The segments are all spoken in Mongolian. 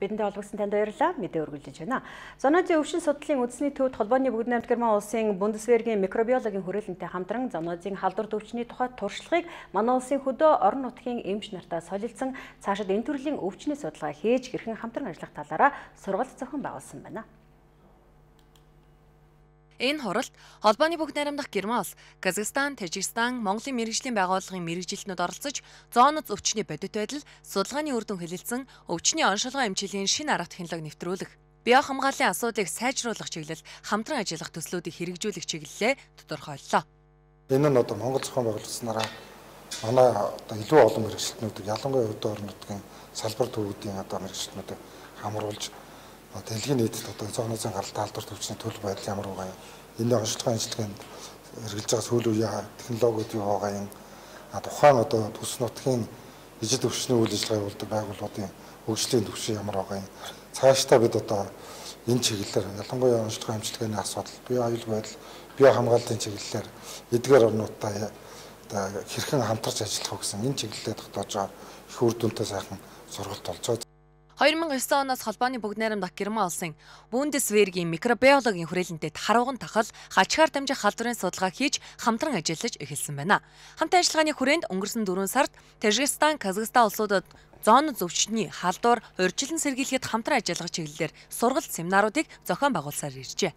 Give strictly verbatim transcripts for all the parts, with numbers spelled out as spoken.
Бидэнтэй холбогдсон танд баярлалаа. Мэдээ өргөлдөж байна. Зоонозын өвчин судлалын үндэсний төвд холбооны бүгд найрамд Герман улсын Бундесвергийн микробиологийн хүрээлэнтэй хамтран зоонозын халдвар өвчний тухай туршлагыг манай улсын хөдөө орон нутгийн эмч нартай солилцсон цаашид энэ төрлийн өвчний судалгаа хийж хэрхэн хамтран ажиллах талаараа сургалт зохион байгуулсан байна. Энэ хуралд холбооны бүгд найрамдах Герман улс, Казахстан, Тажикстан, Монголын мэргэжлийн байгууллагын мэргэжилтнүүд оролцож, зооноз өвчний бодит байдал, судалгааны үр дүн хэлэлцэн, өвчний оншилгоо эмчилгээний шинэ арга технологи нэвтрүүлэх, био хамгааллын асуудлыг сайжруулах чиглэл хамтран ажиллах төслүүдийг хэрэгжүүлэх чиглэлээ тодорхойллоо. Энэ нь одоо Монгол зохион байгуулалтнаараа манай одоо илүү олон мэргэжилтнүүдийг ялангуяа өдөө орон нутгийн салбар төвүүдийн одоо мэргэжилтнүүдийг хамруулж дэлхийн нийтэд одоо зоонозын гаралтай халдвар төвчний төлөв байдал ямар байгаа юм. Энэ онцлогын ажиллагаанд хэрэгжилж байгаа сүүлийн үеийн технологиуд юу байгаа юм. Тухайн одоо төс нутгийн ижил өвчний үйл ажиллагаа явуулдаг байгууллагын хөгжлийн түвшин ямар байгаа юм. Цаашдаа бид одоо энэ чиглэлээр ялангуяа онцлогын амжилтгааны асуудал, био аюулгүй байдал, био хамгааллын чиглэлээр эдгээр орнуудтай одоо хэрхэн хамтарч ажиллах вэ гэсэн энэ чиглэлээр тогтоож байгаа их үр дүнтэй сайхан сургалт болж байгаа. хоёр мянган и девять оноос холбооны бүгд найрамдах Герман улсын Бундесвергийн микробиологийн хүрээлэнтэй харууган тахал хачгаар дамжих халдварын судалгаа хийж хамтран ажиллаж эхэлсэн байна. Хамт ажиллагааны хүрээнд өнгөрсөн дөрвөн сард Тажикстан, Казахстан улсуудад зооноз өвчний халдвар урьдчилан сэргийлэхэд хамтран ажиллах чиглэлээр сургалт семинаруудыг зохион байгуулсаар иржээ.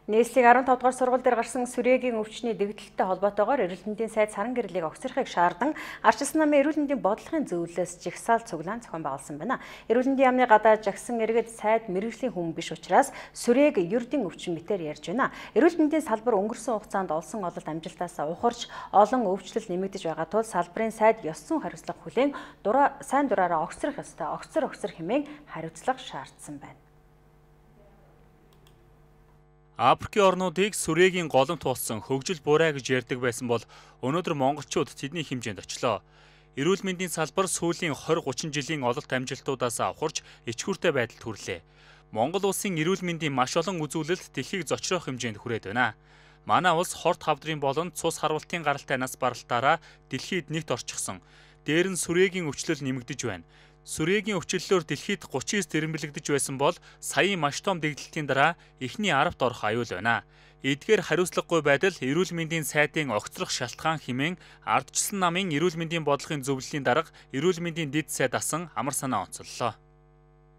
Нийслэлийн арван тавдугаар сургууль дээр гарсан сүрээгийн өвчний дэгдэлттэй холбоотойгоор эрүүл мэндийн сайд саран гэрлийг огцрохыг шаардсан ардчилсан намын эрүүл мэндийн бодлогын зөвлөлөөс жагсаал цуглаан зохион байгуулсан байна. Эрүүл мэндийн яамны гадаа жагсан иргэд сайд мэргэжлийн хүн биш учраас сүрээг ердийн өвчин мэтээр ярьж байна. Эрүүл мэндийн салбар өнгөрсөн хугацаанд олсон ололт амжилтаас ухарч олон өвчлөл нэмэгдэж байгаа тул салбарын сайд ёс зүйн хариуцлага хүлээн дураа сайн дураараа огцрох ёстой огцор огцор хэмээн хариуцлага шаардсан байна. Африкийн орнуудыг сүрээгийн голом туулсан хөгжил бурай гэж ярьдаг байсан бол өнөөдөр монголчууд тэдний хэмжээнд очлоо. Эрүүл мэндийн салбар сүүлийн двадцать гучин жилийн ололт амжилтуудаас авахарч ичгүүртэй байдалд хүрлээ. Монгол улсын эрүүл мэндийн маш олон үзүүлэлт дэлхийг зочрох хэмжээнд хүрээд байна. Манай улс хорт хавдрын болон цус харвалтын гаралтай нас баралтаараа дэлхийд нэгт орчихсон. Дээр нь сүрээгийн өвчлөл нэмэгдэж байна. Сүрээгийн өвчлөлөөр дэлхийд гучин девять тэрэмбэлэгдэж байсан бол саяын маш том дэгдэлтийн дараа эхний аравт орох аюул байна. Эдгээр хариуцлагагүй байдал эрүүл мэндийн сайдын огцрох шалтгаан хэмээн ардчилсан намын эрүүл мэндийн бодлогын зөвлөлийн дарга эрүүл мэндийн дэд сайд асан амар санаа онцоллоо.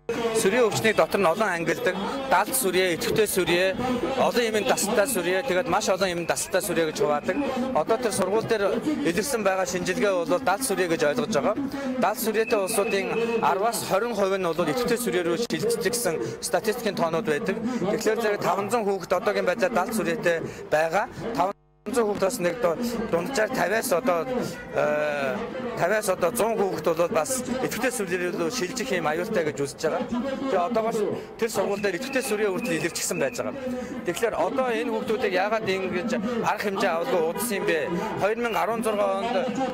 Сүрээ өвчнийг дотор нь олон ангилдаг, далд сүрээ, идэвхтэй сүрээ, олон юмын дасалтай сүрээ, тэгээд маш олон юмын дасалтай сүрээ гэж хуваадаг. Одоо тэр сургууль дээр илэрсэн байгаа шинжилгээ бол далд сүрээ гэж ойлгож байгаа. Далд сүрээтэй улсуудын араваас двадцать хувь нь бол идэвхтэй сүрээ рүү шилждэг гэсэн статистикийн тоонууд байдаг. Тэгэхээр зэрэг таван зуун хүүхэд одоогийн байдлаар далд сүрээтэй байгаа. таван зуун хүүхдээс нэг дунджаар тавиас одоо тавиас одоо зуун хүүхэд бол бас идэвхтэй сүрээ рүү шилжих юм аюултай гэж үзэж байгаа. Тэгээ одоогоос тэр сургууль дээр идэвхтэй сүрээ хүртэл илэрчсэн байж байгаа. Тэгэхээр одоо энэ хүүхдүүдийг яагаад ингэж арга хэмжээ авалгүй удсан юм бэ? две тысячи десять онд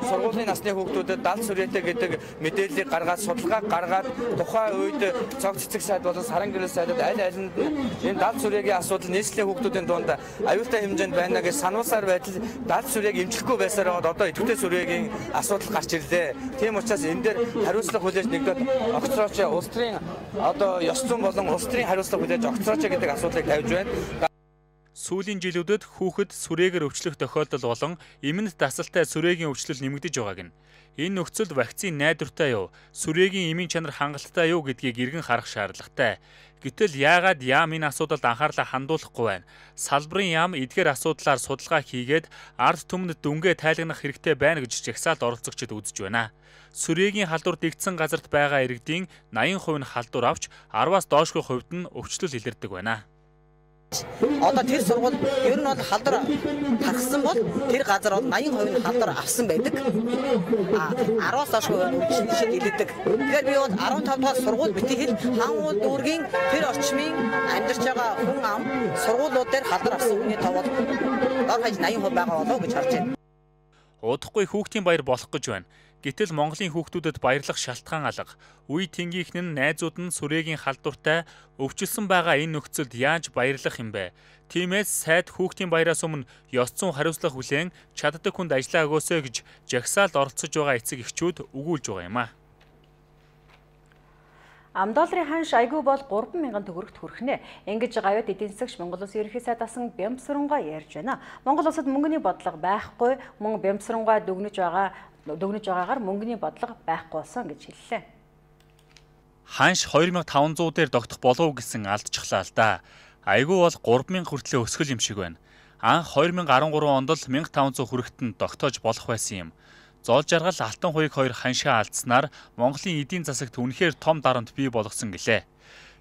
сургуулийн насны хүүхдүүдэд далд сүрээтэй гэдэг мэдээллийг гаргаад судалгаа гаргаад тухайн үед цог цэцэг сайд болон саран гэрэл сайдад аль алинд энэ далд сүрээгийн асуудал нийслэлийн хүүхдүүдийн дунд аюултай хэмжээнд байна гэж сануулсаар байдал далд сүрээг эмчлэхгүй байсаар одоо идэвхтэй сүрээгийн асуудал гарч ирлээ. Тийм учраас энэ дээр хариуцлага хүлээж нэгдээд огцрооч улс төрийн одоо ёс зүйн болон улс төрийн хариуцлага хүлээж огцрооч гэдэг асуудлыг тавьж байна. Сүүлийн жилүүдэд хүүхэд сүрээгээр өвчлөх тохиолдол болон эмэнд дасалтай сүрээгийн өвчлөл нэмэгдэж байгааг нь. Энэ нөхцөлд вакцины найдвартай юу, сүрээгийн эмийн чанар хангалттай юу гэдгийг эргэн харах шаардлагатай. Гэтэл яагаад яам энэ асуудалд анхаарлаа хандуулахгүй байна? Салбарын яам эдгээр асуудлаар судалгаа хийгээд ард түмэнд дүнгээ тайлагнах хэрэгтэй байна гэж жагсаалд оролцогчид үзэж байна. Сүрээгийн халдвар дэгдсэн газарт байгаа иргэдийн eighty хувь нь халдвар авч араваас доошгүй хувьд нь өвчлөл илэрдэг байна. Одоо тэр сургууль ер нь бол халдвар тархсан бол тэр газар бол eighty хувь нь халдвар авсан байдаг. А араваас доошгүй өвчлөл шиг илэрдэг. Тэгэхээр би бол fifteen дугаар сургууль битгий хэл хаан дүүргийн тэр орчмын амьдарч байгаа хүн ам сургуулиуд дээр халдвар авсан хүний тоо бол дор хаяж eighty хувь байгаа болов гэж харж байна. Удахгүй хүүхдийн баяр болох гэж байна. Гэтэл Монголын хүүхдүүдэд баярлах шалтгаан алга. Үе тэнгийнх нь найзууд нь сүрээгийн халдвартай өвчлсөн байгаа энэ нөхцөлд яаж баярлах юм бэ? Тиймээс сайд хүүхдийн баяраас өмнө ёс зүйн хариуцлага хүлээн чаддаг хүнд ажиллаа өгөөсэй гэж жагсаалд оролцож байгаа эцэг эхчүүд өгүүлж байгаа юм а. Ам долларын ханш айгүй бол гурван мянган төгрөгт хүрэхнэ. Ингэж гавьяд эдийн засагч Монгол Улсын ерөнхий сайд асан Бямсрангуй ярьж байна. Монгол улсад мөнгөний бодлого байхгүй, мөн Бямсрангуй дүгнэж байгаа дүгнэж байгаагаар мөнгөний бодлого байхгүй болсон гэж хэллээ. Ханш хоёр мянган таван зуун дээр тогтох болов гэсэн алдчихлаа л да. Айгүй бол гурван мянга хүртлэе өсгөл юм шиг байна. Анх хоёр мянган арван гурван онд л мянга таван зуун хүрэхэд нь тогтоож болох байсан юм. Зоол жаргал алтан хуйг хоёр ханшаа алдснаар Монголын эдийн засагт үнэхээр том дарамт бий болгосон гэлээ.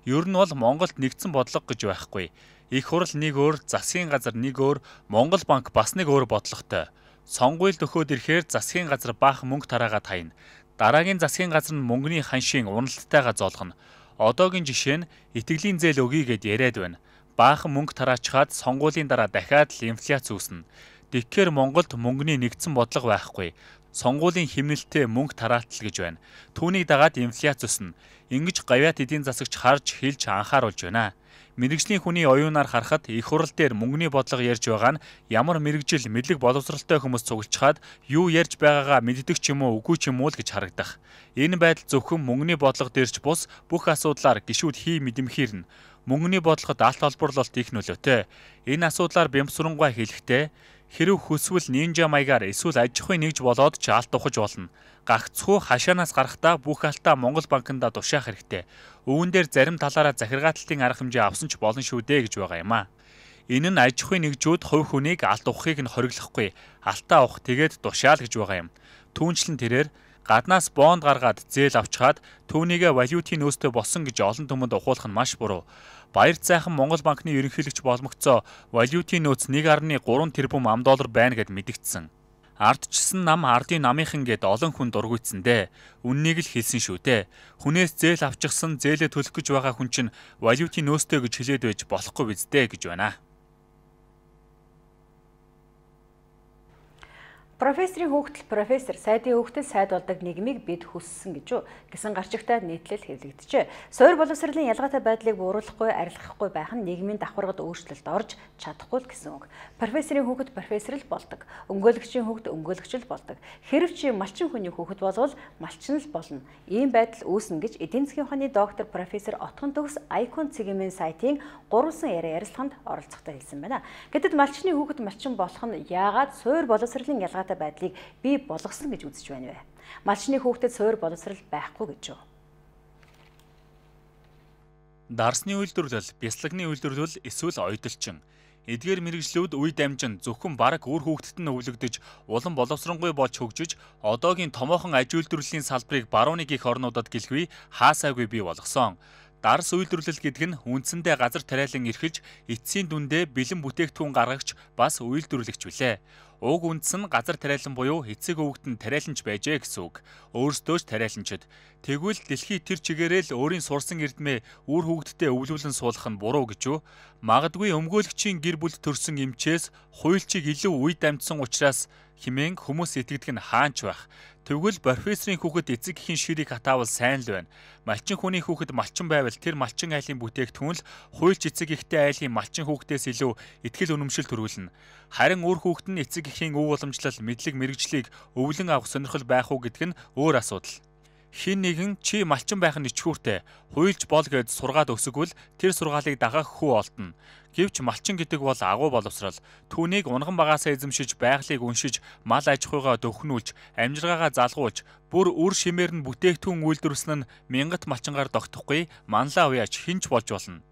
Ер нь бол Монголд нэгдсэн бодлого гэж байхгүй. Их хурл нэг өөр, засгийн газар нэг өөр, Монгол банк бас нэг өөр бодлоготой. Сонгуульд өгөхөд ирэхээр засгийн газар баах мөнгө тараагаад хайна. Дараагийн засгийн газар нь мөнгөний ханшийн уналтайгаа зоолгоно. Одоогийн жишээ нь итгэлийн зээл өгье гэд яриад байна. Баахан мөнгө тараачаад сонгуулийн дараа дахиад л инфляц үүснэ. Тэгэхээр Монголд мөнгөний нэгдсэн бодлого байхгүй. Сонгуулийн хэмнэлтэд мөнгө тараатал гэж байна. Түүнийг дагаад инфляц өснө. Ингэж гавьяат эдийн засагч харж хэлж анхааруулж байна. Мэргэжлийн хүний оюунаар харахад их хурал дээр мөнгөний бодлого ярьж байгаа нь ямар мэргэжил мэдлэг боловсралтай хүмүүс цуглчаад юу ярьж байгаагаа мэддэг ч юм уу үгүй ч юм уу л гэж харагдах. Энэ байдал зөвхөн мөнгөний бодлого дээрч бус бүх асуудлаар гишүүд хий мэдэмхийрнэ. Мөнгөний бодлогод алт олборлолт их нөлөөтэй. Энэ асуудлаар Бямсрангуй хэлэхдээ хэрв хүсвэл нинжа маягаар эсвэл аж ахуйн нэгж болоод ч алт ухаж болно. Гагцхүү хашаанаас гарахдаа бүх алтаа Монгол банкнда тушаах хэрэгтэй. Үүн дээр зарим талаараа захиргаалтын арга хэмжээ авсан ч болно шүү дээ гэж байгаа юм а. Энэ нь аж ахуйн нэгжүүд хувь хүнийг алт ухахыг нь хориглохгүй. Алтаа ухах тэгээд тушаал гэж байгаа юм. Түүнчлэн тэрээр гаднаас бонд гаргаад зээл авчгаад түүнийгээ валютын нөөцтэй болсон гэж олон түмэнд ухуулах нь маш буруу. Баярт сайхан Монгол банкны ерөнхийлөгч боломгцоо валютын нөөц нэг гаруй гурван тэрбум ам доллар байна гэд мэдгдсэн. Ардчсан нам ардын намынхан гэд олон хүн дургуйцсан дээ. Үннийг л хэлсэн шүү дээ. Хүнээс зээл авчихсан зээлээ төлөх гэж байгаа хүн чинь валютын нөөцтэй гэж хэлээд байж болохгүй биз дээ гэж байна. Профессорын хүүхдэл профессор сайдын хүүхдэл сайд болдог нийгмийг бид хүссэн гэж үү гэсэн гарчигтай нийтлэл хэвлэгдэжээ. Суур боловсролын ялгаатай байдлыг бууруулахгүй, арилгахгүй байх нь нийгмийн давхаргад өөрчлөлт орж чадахгүй л гэсэн үг. Профессорын хүүхэд профессор л болдог. Өмгөөлөгчийн хүүхэд өмгөөлөгч л болдог. Хэрв чи малчин хүний хүүхэд болвол малчин л болно. Ийм байдал үүснэ гэж эдийн засгийн ухааны доктор профессор Отгон төгс Icon цэгийн сайтын гурван яриа ярилцлаганд оролцохдоо хэлсэн байна. Гэтэл малчны хүүхэд малчин болох нь яагаад суур боловсролын ялгаатай байдлыг бий болгосон гэж үзэж байна вэ? Малчны хүүхдэд суур боловсрал байхгүй гэж үү? Дарсны үйлдвэрлэл, бясалганы үйлдвэрлэл эсвэл ойдолчин. Эдгээр мэргэжлүүд үе дамжин зөвхөн бараг үр хүүхдэд нь өвлөгдөж, улам боловсронгуй болж хөгжиж, одоогийн томоохон аж үйлдвэрлэлийн салбарыг барууны гих орнуудад гэлгүй хаасаагүй бий болгосон. Дарс үйлдвэрлэл гэдэг нь үндсэндээ газар тариалан эрхэлж, эцсийн дүндээ бэлэн бүтээгдэхүүн гаргагч бас үйлдвэрлэгч билээ. Уг үндэс нь газар тариалан буюу эцэг өвгөд нь тариаланч байжээ гэсэн үг. Өөрсдөө ч тариаланчид. Тэгвэл дэлхий тэр чигээрээ л өөрийн сурсан эрдмээ үр хүүхдэдээ өвлүүлэн суулгах нь буруу гэж үү? Магадгүй өмгөөлөгчийн гэр бүлд төрсэн эмчээс хуульчийг илүү үе дамжсан учраас хэмээн хүмүүс итгэдэг нь хаанч байх. Тэгвэл профессорын хүүхэд эцэг эхийн ширийг хатаавал сайн л байна. Малчин хүний хүүхэд малчин байвал тэр малчин айлын бүтээгдэхүүн л хуульч эцэг эхтэй айлын малчин хүүхдээс илүү итгэл үнэмшил төрүүлнэ. Харин үр хүүхэд нь эцэг эхийн өв уламжлал мэдлэг мэргэжлийг өвлөн авах сонирхол байх уу гэдэг нь өөр асуудал. Хин нэгэн чи малчин байх нь ичхүүртэй, хуйлж бол гэж сургаад өсгөвөл тэр сургаалыг дагаах хүү олдно. Гэвч малчин гэдэг бол агуу боловсрал. Түүнийг унган багаасаа эзэмшиж, байгалыг уншиж, мал аж ахуйгаа дөхнүүлж, амжиргаагаа залгуулж, бүр үр шимээр нь бүтээгдэхүүн үйлдвэрлэсэн нь мянгат малчингаар тогтохгүй манлаа уяач хинч болж болно.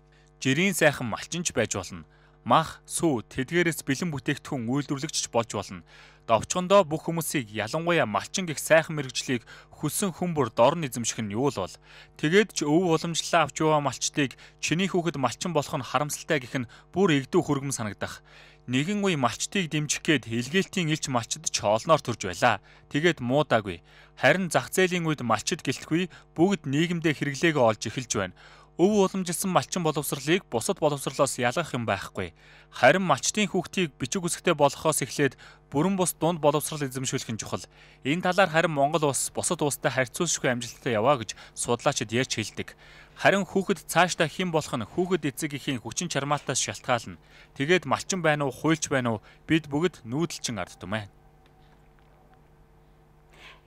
Жирийн сайхан малчинч байж болно. Мах, сүү, тэдгээрээс бэлэн бүтээгдэхүүн үйлдвэрлэгч болж болно. Довчгондоо бүх хүмүүсийг ялангуяа малчин гэх сайхан мэргэжлийг хүссэн хүмүүр дорн эзэмших нь юу л бол. Тэгээд ч өв уламжлалаа авч яваа малчтыг чиний хүүхэд малчин болох нь харамсалтай гэх нь бүр эгдүү хүргэм санагдах. Нэгэн үе малчтыг дэмжих гээд илгээлтийн элч малчид ч олноор төрж байлаа. Тэгээд муудаагүй. Харин зах зээлийн үед малчид гэлтгүй бүгд нийгэмдээ хэрэглээгөө олж эхэлж байна. Өв уламжилсан малчин боловсролыг бусад боловсролоос ялгах юм байхгүй. Харин малчтын хүүхдийг бичиг үсгтэй болгохоос эхлээд бүрэн бус дунд боловсрол эзэмшүүлэх нь чухал. Энэ талаар харин Монгол улс бусад улстай харьцуулшгүй амжилттай яваа гэж судлаачид ярьж хэлдэг. Харин хүүхэд цаашдаа хэн болох нь хүүхэд эцэг эхийн хүчин чармаатаас шалтгаална. Тэгээд малчин байна уу, хуульч байна уу бид бүгд нүүдэлчин ард түмэн.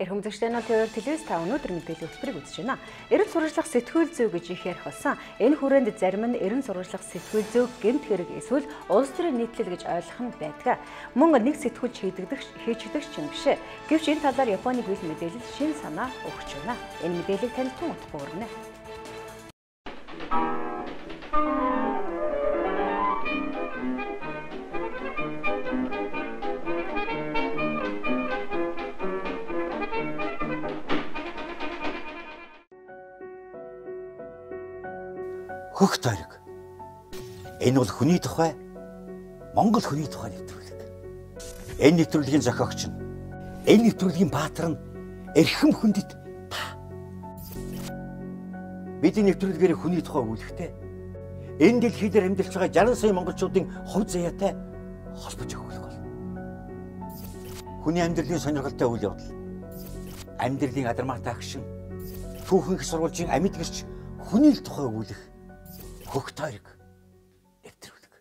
Эрхэм үзэгчдээ нь тэр телевиз та өнөөдөр мэдээллийн хөтөлбөрийг үзэж байна. Эрүүл сурвалжлах сэтгүүл зүй гэж их ярих болсон. Энэ хүрээнд зарим нь эрүүл сурвалжлах сэтгүүл зүй гэмт хэрэг эсвэл улс төрийн нийтлэл гэж ойлгох нь байдаг. Мөн нэг сэтгүүлч хийдэгдэх хийчигдэх ч юм бишээ. Гэвч энэ талаар Японы хэл мэдээлэл шин санаа өгч байна. Энэ мэдээллийг танилцсан утга өрнө. Хөх тойрог. Энэ бол хүний тухай Монгол хүний тухай нэвтрүүлэг. Энэ нэвтрүүлгийн зохиогч нь энэ нэвтрүүлгийн баатар нь эрхэм хүндэт та. Бидний нэвтрүүлгээр хүний тухай өгүүлэхдээ энэ дэлхийд амьдарч байгаа жаргал сая монголчуудын хувь заяатай холбож өгөх бол. Хүний амьдралын сонирхолтой үйл явдал. Амьдралын адармаатай агшин түүхэн их сурвалжийн амьд гэрч хүний л тухай өгүүлэх Хөх тойрог нэвтрүүлэг.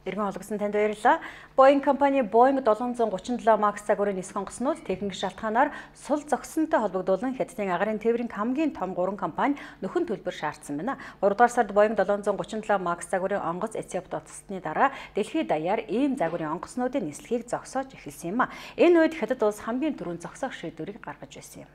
Иргэн олгосон танд баярлалаа. Boeing компани Boeing seven thirty-seven Max загварын нисэх онгоцнууд техник шалтгаанаар сул зогссонтой холбогдуулан Хятадын агаарын тээврийн хамгийн том гурван компани нөхөн төлбөр шаардсан байна. гурав дугаар сард Boeing seven thirty-seven Max загварын онгоц Эциопид утасны дараа дэлхийд даяар ийм загварын онгоцнуудын нислэгийг зогсоож эхэлсэн юм а. Энэ үед Хятад улс хамгийн түрүүнд зогсоох шийдвэрийг гаргаж байсан юм.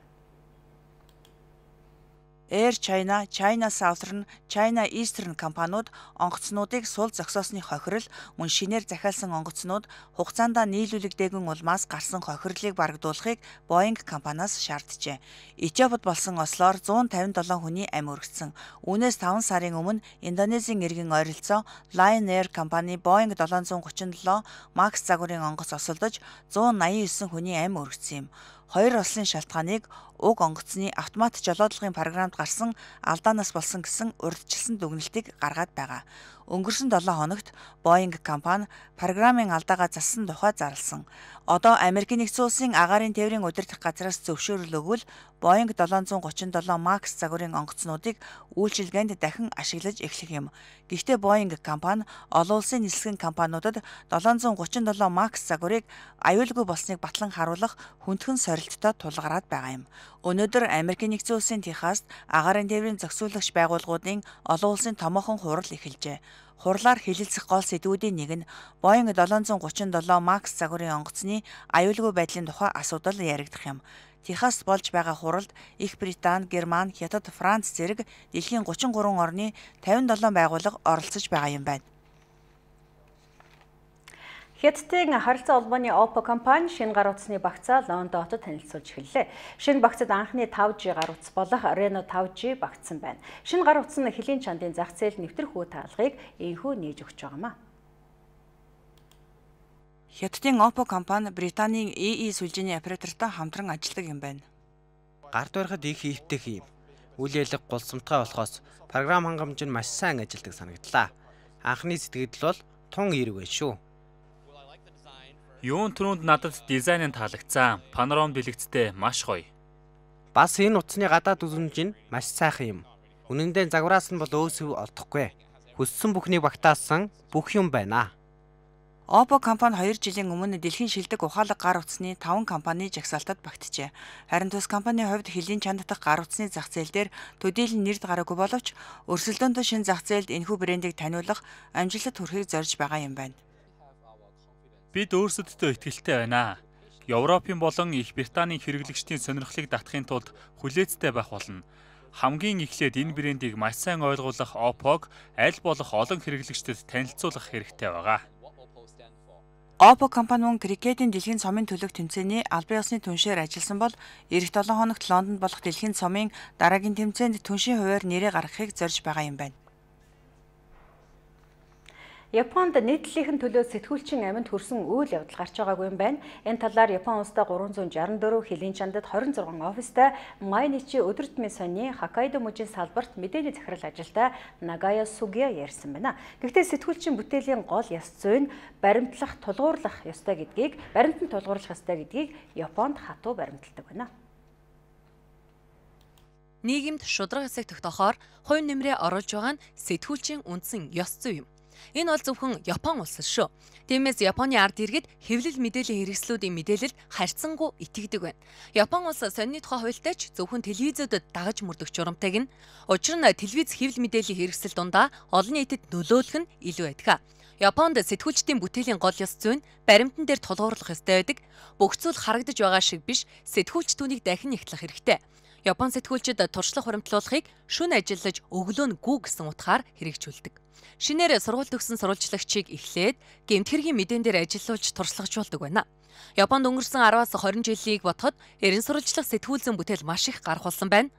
Air China, China Southern, China Eastern компаниуд онгоцнуудыг сул зогсоосны хохирол мөн шинээр захиалсан онгоцнууд хугацаанд нийлүүлэгдээгүйн улмаас гарсан хохирлыг барагдуулахыг Boeing компаниас шаарджээ. Эциопид болсон ослоор one fifty-seven хүний амь өргөцсөн. Үүнээс five сарын өмнө Индонезийн иргэн ойролцоо Lion Air компани Boeing seven thirty-seven Max загварын онгоц осолдож one ninety-nine хүний амь өргөцсөн юм. Хоёр ослын шалтгааныг уг онгоцны автомат жолоодлагын програмд гарсан алдаанаас болсон гэсэн урьдчилсан дүгнэлтийг гаргаад байгаа. Өнгөрсөн seven хоногт Boeing компани програмын алдаагаа зассан тухай зарласан. Одоо Америкийн нэгдсэн улсын агаарын тээврийн удирдах газраас зөвшөөрөл өгвөл Boeing seven thirty-seven Max загварын онгоцнуудыг үйлчилгээнд дахин ашиглаж эхлэх юм. Гэхдээ Boeing компани олон улсын нислэгэн компаниудад seven thirty-seven Max загварыг аюулгүй болсныг батлан харуулах хүндхэн сорилттой тулгараад байгаа юм. Өнөөдөр Америкийн нэгдсэн улсын Техаст агаарын тээврийн зохицуулагч байгууллагуудын олон улсын томоохон хурал эхэлжээ. Хурлаар хэлэлцэх гол сэдвүүдийн нэг нь Boeing seven thirty-seven Max загварын онгоцны аюулгүй байдлын тухай асуудал яригдах юм. Техаст болж байгаа хуралд Их Британи, Германи, Хятад, Франц зэрэг дэлхийн thirty-three орны fifty-seven байгууллага оролцож байгаа юм байна. Хятадын харилцаа холбооны Oppo компани шинэ гар утасны багцаа Лондон хотод танилцуулж эхэллээ. Шинэ багцад анхны five G гар утас болох Reno five G багтсан байна. Шинэ гар утас нь хөлийн чандын зах зээл нэвтрэх үе таалгыг энхүү нээж өгч байгаа юм а. Хятадын Oppo компани Британийн И И сүлжээний оператортой хамтран ажилладаг юм байна. Гарт барихад их хэвтэх юм. Үйл ялэг гулсамтгай болохоос програм хангамж нь маш сайн ажилладаг санагдлаа. Анхны сэтгэл бол тун эерэг байна шүү. Юун түрүүнд надад дизайн нь таалагдсан. Панорам дэлгэцтэй маш гоё. Бас энэ утасны гадаад үзмж нь маш сайхан юм. Үнэн дээр загвараас нь бол өөсөв олдохгүй. Хүссэн бүхнийг багтаасан бүх юм байна. Oppo компани two жилийн өмнө дэлхийн шилдэг ухаалаг гар утасны five компани жагсаалтад багтжээ. Харин тус компанийн хувьд хөлийн чанд дахь гар утасны зах зээл дээр төдийлөн нэрд гараагүй боловч өрсөлдөөнтэй шинэ зах зээлд энэхүү брендийг таниулах амжилт хүрэхийг зорж байгаа юм байна. Бид өөрсөддөө итгэлтэй байна. Европын болон Их Британийн хэрэглэгчдийн сонирхлыг татахын тулд хүлээцтэй байх болно. Хамгийн эхлээд энэ брендийг маш сайн ойлгуулах Oppo-г аль болох олон хэрэглэгчдэд танилцуулах хэрэгтэй байгаа. Oppo компани мөн крикетийн дэлхийн цомын төлөв тэмцээний албан ёсны түншээр ажилласан бол эх seven хоногт Лондонд болох дэлхийн цомын дараагийн тэмцээнд түншийн хуваар нэрээ гаргахыг зорж байгаа юм байна. Японд нийтлэлийн төлөө сэтгүүлчин амьд хүрсэн үйл явдал гарч байгаагүй юм байна. Энэ талаар Япон улстай гурван зуун жирэмдээ дөрөв хилийн чандад хорин зургаан офистай Майничи өдөр тутмын сонины Хоккайдо мужийн салбарт мэдээний захирал ажилтай Нагая Сугия ярьсан байна. Гэхдээ сэтгүүлчин бүтээлийн гол ёс зүйн баримтлах, тулгуурлах ёстой гэдгийг, баримтанд тулгуурлах ёстой гэдгийг Японд хатуу баримталдаг байна. Нийгэмд шударга хэсэг тогтоохоор хувь нэмрээ оруулж байгаа нь сэтгүүлчийн үндсэн ёс зүй юм. Энэ бол зөвхөн Япон улс шүү. Тиймээс Японы ард иргэд хэвлэл мэдээллийн хэрэгслүүдийн мэдээлэлд харьцангуй итгэдэг байна. Япон улс сонины тухай хуультай ч зөвхөн телевизүүдэд дагаж мөрдөх журамтай гин. Учир нь телевиз хэвлэл мэдээллийн хэрэгсэл дундаа олон нийтэд нөлөөлөх нь илүү байдаг. Японд сэтгүүлчдийн бүтээлийн гол ёс зүй нь баримтан дээр тулгуурлах ёстой байдаг. Бүх зүйл харагдаж байгаа шиг биш, сэтгүүлч түүнийг дахин ихтлэх хэрэгтэй. Япон сэтгүүлчид туршлага хуримтлуулахыг шүн ажиллаж өглөө нь гүү гэсэн утгаар хэрэгжүүлдэг. Шинээр сургууль төгссөн сурвалжлагчийг эхлээд гэмт хэргийн мэдээн дээр ажиллуулж туршлагажуулдаг байна. Японд өнгөрсөн араваас хорин жилийг бодоход эрен сурвалжлах сэтгүүлзэн бүтээл маш их гарах болсон байна.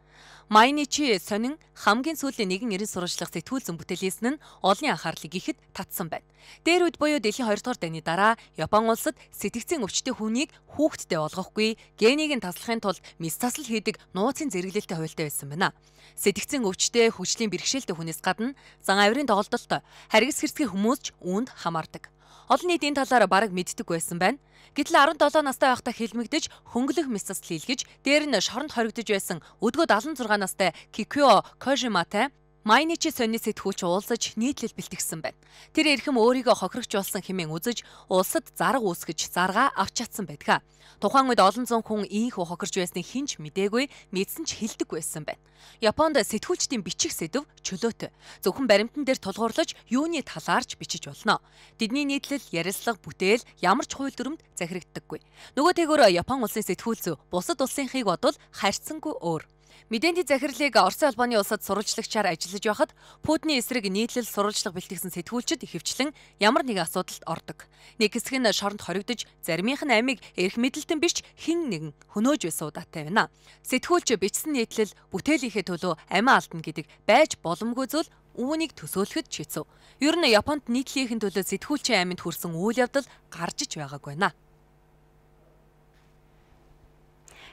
Майничи сонин хамгийн сүүлийн нэгэн эрен сурвалжлах сэтгүүлзэн бүтээлсэн нь олонний анхаарлыг ихэд татсан байна. Дээр үед буюу дэлхийн хоёр дахь дайны дараа Япон улсад сэтгцийн өвчтөй хүнийг хүүхдтэй болгохгүй, генийг нь таслахын тулд мис таслал хийдэг нууцын зэрэглэлтэй хуультай байсан байна. Сэтгцийн өвчтөй хүчлийн бэрхшээлтэй хүнээс гадна зан авирын тоглолтод харгас хэрцгий хүмүүс ч үүнд хамаардаг. Олон нийт энэ талаар бараг мэддэг байсан байна. Гэтэл арван долоо настай байхдаа хэлмэгдэж хөнгөлөх мис засал хийлгэж, дээр нь шоронд хоригдож байсан өдгөө дагалан зургаан настай Кикё Кожиматай Майничи сонины сэтгүүлч уулзаж нийтлэл бэлтгэсэн байна. Тэр эрхэм өөрийгөө хохирогчулсан хэмээн үзэж улсад зарга үүсгэж заргаа авч чадсан байдаг. Тухайн үед олон зуун хүн ийхүү хохирж байсныг хинч мдээгүй, мэдсэн ч хэлдэг байсан байна. Японд сэтгүүлчдийн бичих сэдв чөлөөтэй. Зөвхөн баримтан дээр тулгуурлаж юуны талаарч бичиж болно. Тэдний нийтлэл, ярилцлага, бүтээл ямар ч хууль дүрмд захирагддаггүй. Нөгөө тэгөөр Япон улсын сэтгүүлч бусад улсынхыг бодвол харьцангуй өөр. Мэдээний захирлыг Оросын албаны улсад сурвалжлагчаар ажиллаж байхад Путиний эсрэг нийтлэл сурвалжлага бэлтгэсэн сэтгүүлчид ихэвчлэн ямар нэгэн асуудалд ордог. Нэг хэсэг нь шоронд хоригдож, заримынх нь амийг эрх мэдэлтэн биш хэн нэгэн хөнөөж байсан удаатай байна. Сэтгүүлч бичсэн нийтлэл бүтээлийнхээ төлөө амиа алдна гэдэг байж боломгүй зүйл үүнийг төсөөлөхөд ч хэцүү. Ер нь Японд нийтлэлийн төлөө сэтгүүлчийн аминд хүрсэн үйл явдал гарч иж байгаагүй байна.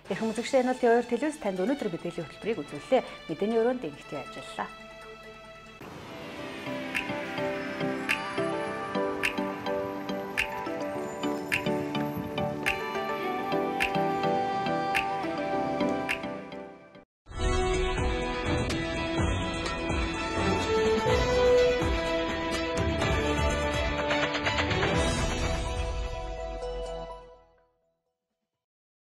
Эрхэм үзэгчдээ энэ бол Т2 телевиз танд өнөөдөр мэдээллийн хөтөлбөрийг үзүүллээ. Мэдээний өрөөнд ингэхдээ ажиллалаа.